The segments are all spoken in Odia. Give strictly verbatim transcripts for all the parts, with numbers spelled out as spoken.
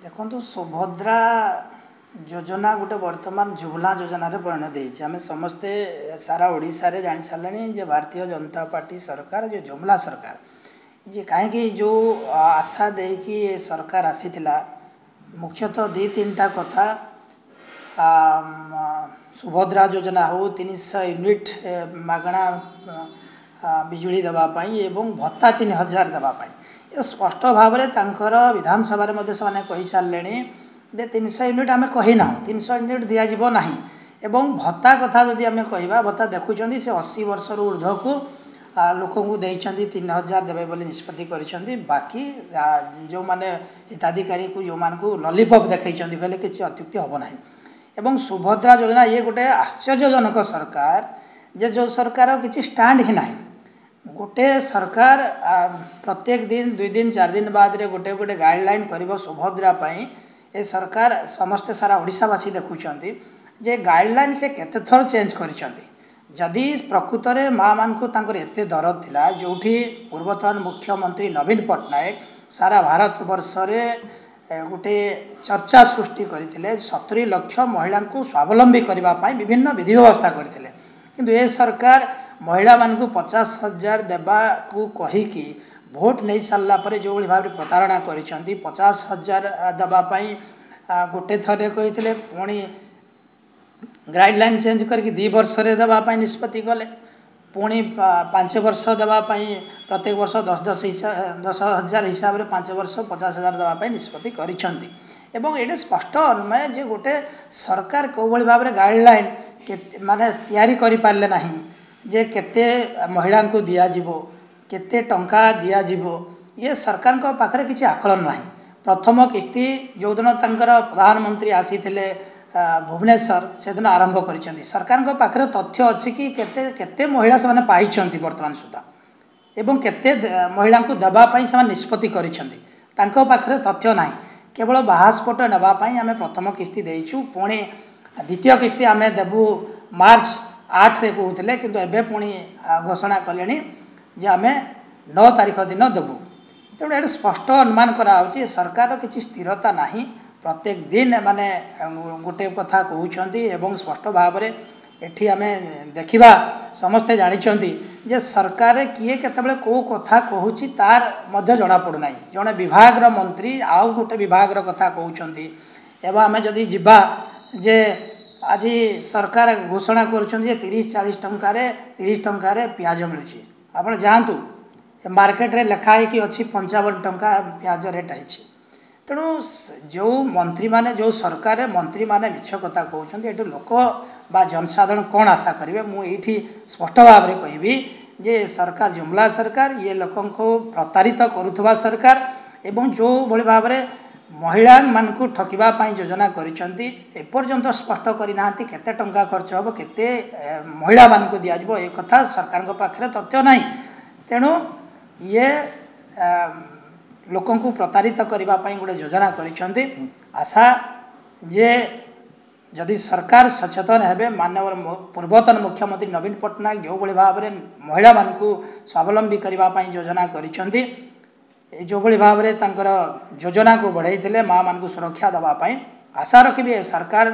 ଦେଖନ୍ତୁ, ସୁଭଦ୍ରା ଯୋଜନା ଗୋଟେ ବର୍ତ୍ତମାନ ଝୁମଲା ଯୋଜନାରେ ପରିଣତ ହେଇଛି। ଆମେ ସମସ୍ତେ ସାରା ଓଡ଼ିଶାରେ ଜାଣିସାରିଲେଣି ଯେ ଭାରତୀୟ ଜନତା ପାର୍ଟି ସରକାର ଯେ ଜୁମଲା ସରକାର ଯେ, କାହିଁକି ଯେଉଁ ଆଶା ଦେଇକି ଏ ସରକାର ଆସିଥିଲା, ମୁଖ୍ୟତଃ ଦୁଇ ତିନିଟା କଥା, ସୁଭଦ୍ରା ଯୋଜନା ହେଉ, ତିନିଶହ ୟୁନିଟ୍ ମାଗଣା ବିଜୁଳି ଦେବା ପାଇଁ ଏବଂ ଭତ୍ତା ତିନି ହଜାର ଦେବା ପାଇଁ। ଏ ସ୍ପଷ୍ଟ ଭାବରେ ତାଙ୍କର ବିଧାନସଭାରେ ମଧ୍ୟ ସେମାନେ କହିସାରିଲେଣି ଯେ ତିନିଶହ ୟୁନିଟ୍ ଆମେ କହିନାହୁଁ, ତିନିଶହ ୟୁନିଟ୍ ଦିଆଯିବ ନାହିଁ। ଏବଂ ଭତ୍ତା କଥା ଯଦି ଆମେ କହିବା, ଭତ୍ତା ଦେଖୁଛନ୍ତି, ସେ ଅଶୀ ବର୍ଷରୁ ଉର୍ଦ୍ଧ୍ୱକୁ ଲୋକଙ୍କୁ ଦେଇଛନ୍ତି, ତିନି ହଜାର ଦେବେ ବୋଲି ନିଷ୍ପତ୍ତି କରିଛନ୍ତି। ବାକି ଯେଉଁମାନେ ହିତାଧିକାରୀକୁ ଯେଉଁମାନଙ୍କୁ ଲଲିପପ୍ ଦେଖାଇଛନ୍ତି କହିଲେ କିଛି ଅତ୍ୟୁକ୍ତି ହେବ ନାହିଁ। ଏବଂ ସୁଭଦ୍ରା ଯୋଜନା, ଇଏ ଗୋଟେ ଆଶ୍ଚର୍ଯ୍ୟଜନକ ସରକାର ଯେ ଯେଉଁ ସରକାର କିଛି ଷ୍ଟାଣ୍ଡ ହିଁ ନାହିଁ। ଗୋଟେ ସରକାର ପ୍ରତ୍ୟେକ ଦିନ, ଦୁଇ ଦିନ ଚାରି ଦିନ ବାଦରେ ଗୋଟେ ଗୋଟେ ଗାଇଡ଼ଲାଇନ୍ କରିବ ସୁଭଦ୍ରା ପାଇଁ। ଏ ସରକାର ସମସ୍ତେ ସାରା ଓଡ଼ିଶାବାସୀ ଦେଖୁଛନ୍ତି ଯେ ଗାଇଡ଼ଲାଇନ୍ ସେ କେତେ ଥର ଚେଞ୍ଜ କରିଛନ୍ତି। ଯଦି ପ୍ରକୃତରେ ମାଆମାନଙ୍କୁ ତାଙ୍କର ଏତେ ଦରଦ ଥିଲା, ଯେଉଁଠି ପୂର୍ବତନ ମୁଖ୍ୟମନ୍ତ୍ରୀ ନବୀନ ପଟ୍ଟନାୟକ ସାରା ଭାରତବର୍ଷରେ ଗୋଟେ ଚର୍ଚ୍ଚା ସୃଷ୍ଟି କରିଥିଲେ, ସତୁରି ଲକ୍ଷ ମହିଳାଙ୍କୁ ସ୍ୱାବଲମ୍ବୀ କରିବା ପାଇଁ ବିଭିନ୍ନ ବିଧି ବ୍ୟବସ୍ଥା କରିଥିଲେ, କିନ୍ତୁ ଏ ସରକାର ମହିଳାମାନଙ୍କୁ ପଚାଶ ହଜାର ଦେବାକୁ କହିକି ଭୋଟ ନେଇ ସାରିଲା ପରେ ଯେଉଁଭଳି ଭାବରେ ପ୍ରତାରଣା କରିଛନ୍ତି, ପଚାଶ ହଜାର ଦେବା ପାଇଁ ଗୋଟେ ଥରେ କହିଥିଲେ, ପୁଣି ଗାଇଡ଼ଲାଇନ୍ ଚେଞ୍ଜ କରିକି ଦୁଇ ବର୍ଷରେ ଦେବା ପାଇଁ ନିଷ୍ପତ୍ତି କଲେ, ପୁଣି ପାଞ୍ଚ ବର୍ଷ ଦେବା ପାଇଁ, ପ୍ରତ୍ୟେକ ବର୍ଷ ଦଶ ଦଶ ଦଶ ହଜାର ହିସାବରେ ପାଞ୍ଚ ବର୍ଷ ପଚାଶ ହଜାର ଦେବା ପାଇଁ ନିଷ୍ପତ୍ତି କରିଛନ୍ତି। ଏବଂ ଏଇଟା ସ୍ପଷ୍ଟ ଅନୁମେୟ ଯେ ଗୋଟେ ସରକାର କେଉଁଭଳି ଭାବରେ ଗାଇଡ଼ଲାଇନ୍ କେତେ ମାନେ ତିଆରି କରିପାରିଲେ ନାହିଁ ଯେ କେତେ ମହିଳାଙ୍କୁ ଦିଆଯିବ, କେତେ ଟଙ୍କା ଦିଆଯିବ, ଇଏ ସରକାରଙ୍କ ପାଖରେ କିଛି ଆକଳନ ନାହିଁ। ପ୍ରଥମ କିସ୍ତି ଯେଉଁଦିନ ତାଙ୍କର ପ୍ରଧାନମନ୍ତ୍ରୀ ଆସିଥିଲେ ଭୁବନେଶ୍ୱର, ସେଦିନ ଆରମ୍ଭ କରିଛନ୍ତି। ସରକାରଙ୍କ ପାଖରେ ତଥ୍ୟ ଅଛି କି କେତେ କେତେ ମହିଳା ସେମାନେ ପାଇଛନ୍ତି ବର୍ତ୍ତମାନ ସୁଦ୍ଧା ଏବଂ କେତେ ମହିଳାଙ୍କୁ ଦେବା ପାଇଁ ସେମାନେ ନିଷ୍ପତ୍ତି କରିଛନ୍ତି, ତାଙ୍କ ପାଖରେ ତଥ୍ୟ ନାହିଁ। କେବଳ ବାହାସ୍ଫୋଟ ନେବା ପାଇଁ ଆମେ ପ୍ରଥମ କିସ୍ତି ଦେଇଛୁ, ପୁଣି ଦ୍ୱିତୀୟ କିସ୍ତି ଆମେ ଦେବୁ ମାର୍ଚ୍ଚ ଆଠରେ କହୁଥିଲେ, କିନ୍ତୁ ଏବେ ପୁଣି ଘୋଷଣା କଲେଣି ଯେ ଆମେ ନଅ ତାରିଖ ଦିନ ଦେବୁ। ତେଣୁ ଏଠି ସ୍ପଷ୍ଟ ଅନୁମାନ କରାହେଉଛି ସରକାରର କିଛି ସ୍ଥିରତା ନାହିଁ। ପ୍ରତ୍ୟେକ ଦିନ ଏମାନେ ଗୋଟେ କଥା କହୁଛନ୍ତି ଏବଂ ସ୍ପଷ୍ଟ ଭାବରେ ଏଠି ଆମେ ଦେଖିବା, ସମସ୍ତେ ଜାଣିଛନ୍ତି ଯେ ସରକାରରେ କିଏ କେତେବେଳେ କେଉଁ କଥା କହୁଛି ତାର ମଧ୍ୟ ଜଣାପଡ଼ୁନାହିଁ। ଜଣେ ବିଭାଗର ମନ୍ତ୍ରୀ ଆଉ ଗୋଟେ ବିଭାଗର କଥା କହୁଛନ୍ତି। ଏବଂ ଆମେ ଯଦି ଯିବା ଯେ ଆଜି ସରକାର ଘୋଷଣା କରୁଛନ୍ତି ଯେ ତିରିଶ ଚାଳିଶ ଟଙ୍କାରେ, ତିରିଶ ଟଙ୍କାରେ ପିଆଜ ମିଳୁଛି। ଆପଣ ଯାଆନ୍ତୁ ମାର୍କେଟରେ, ଲେଖା ହେଇକି ଅଛି ପଞ୍ଚାବନ ଟଙ୍କା ପିଆଜ ରେଟ୍ ହେଇଛି। ତେଣୁ ଯେଉଁ ମନ୍ତ୍ରୀମାନେ, ଯେଉଁ ସରକାରରେ ମନ୍ତ୍ରୀମାନେ ମିଛ କଥା କହୁଛନ୍ତି, ଏଠୁ ଲୋକ ବା ଜନସାଧାରଣ କ'ଣ ଆଶା କରିବେ? ମୁଁ ଏଇଠି ସ୍ପଷ୍ଟ ଭାବରେ କହିବି ଯେ ସରକାର ଜୁମଲା ସରକାର, ଇଏ ଲୋକଙ୍କୁ ପ୍ରତାରିତ କରୁଥିବା ସରକାର। ଏବଂ ଯେଉଁଭଳି ଭାବରେ ମହିଳାମାନଙ୍କୁ ଠକିବା ପାଇଁ ଯୋଜନା କରିଛନ୍ତି, ଏପର୍ଯ୍ୟନ୍ତ ସ୍ପଷ୍ଟ କରିନାହାନ୍ତି କେତେ ଟଙ୍କା ଖର୍ଚ୍ଚ ହେବ, କେତେ ମହିଳାମାନଙ୍କୁ ଦିଆଯିବ, ଏ କଥା ସରକାରଙ୍କ ପାଖରେ ତଥ୍ୟ ନାହିଁ। ତେଣୁ ଇଏ ଲୋକଙ୍କୁ ପ୍ରତାରିତ କରିବା ପାଇଁ ଗୋଟେ ଯୋଜନା କରିଛନ୍ତି। ଆଶା ଯେ ଯଦି ସରକାର ସଚେତନ ହେବେ, ମାନ୍ୟବର ପୂର୍ବତନ ମୁଖ୍ୟମନ୍ତ୍ରୀ ନବୀନ ପଟ୍ଟନାୟକ ଯେଉଁଭଳି ଭାବରେ ମହିଳାମାନଙ୍କୁ ସ୍ୱାବଲମ୍ବୀ କରିବା ପାଇଁ ଯୋଜନା କରିଛନ୍ତି, ଯେଉଁଭଳି ଭାବରେ ତାଙ୍କର ଯୋଜନାକୁ ବଢ଼େଇଥିଲେ ମାଆମାନଙ୍କୁ ସୁରକ୍ଷା ଦେବା ପାଇଁ, ଆଶା ରଖିବି ଏ ସରକାର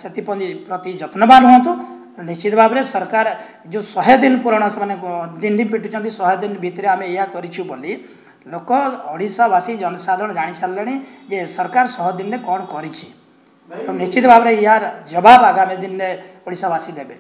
ସେଥିପ୍ରତି ପ୍ରତି ଯତ୍ନବାନ ହୁଅନ୍ତୁ। ନିଶ୍ଚିତ ଭାବରେ ସରକାର ଯେଉଁ ଶହେ ଦିନ ପୂରଣ ସେମାନେ ଦିଣ୍ଡି ପିଟୁଛନ୍ତି, ଶହେ ଦିନ ଭିତରେ ଆମେ ଏଇଆ କରିଛୁ ବୋଲି, ଲୋକ ଓଡ଼ିଶାବାସୀ ଜନସାଧାରଣ ଜାଣିସାରିଲେଣି ଯେ ସରକାର ଶହେ ଦିନରେ କ'ଣ କରିଛି। ତ ନିଶ୍ଚିତ ଭାବରେ ୟାର ଜବାବ ଆଗାମୀ ଦିନରେ ଓଡ଼ିଶାବାସୀ ଦେବେ।